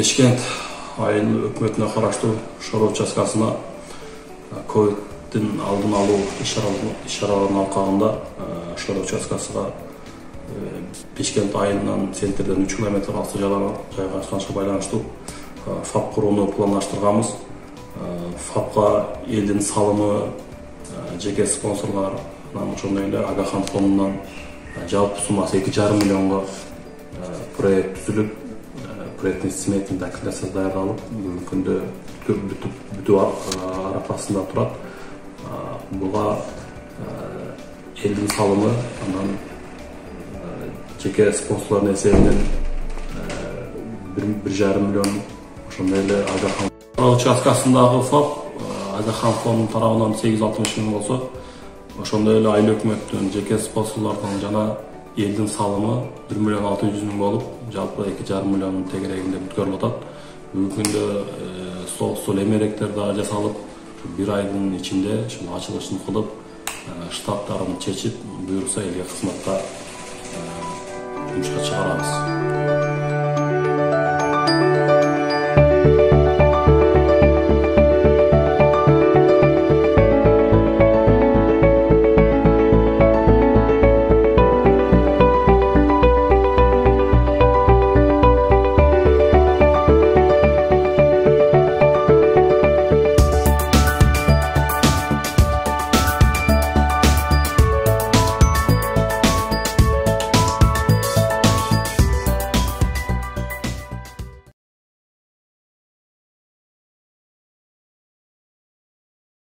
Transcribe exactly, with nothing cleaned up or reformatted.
Бишкент айыл өкмөтүнө караштуу шор участкасына ковидтин алдын алуу иш-чараларынын алкагында шор участкасына Бишкент айылынан центрден үч километр алыс жайгашканга байланыштуу ФАП курууну пландаштырганбыз. ФАПка элдин салымы, жеке спонсорлордан, ошондой эле Агахан фондунан жалпы суммасы эки жарым миллионго проект түзүлүп, проекттин сметинин документациясы даярдалып, бүгүнкү күндө бүтүп арапасында турат. Буга элдин салымы, анан жеке спонсорлордун эсебинен бир жарым миллион, ошондой эле Агахан участкасындагы ФАП Агахан фондунун тарабынан сегиз жүз алтымыш миң болсо, ошондой эле айыл өкмөттүн, жеке спонсорлордун жана элдин салымы бир миллион алты жүз миң болуп, жалпы эки жарым миллиондун тегерегинде бүткөрүлүп атат. Бүгүнкү күндө сол сол эмеректер да жасалып, бир айдын ичинде ушул ачылышын кылып, штаттарын чечип, буюрса элге кызматка жумушка чыгарабыз.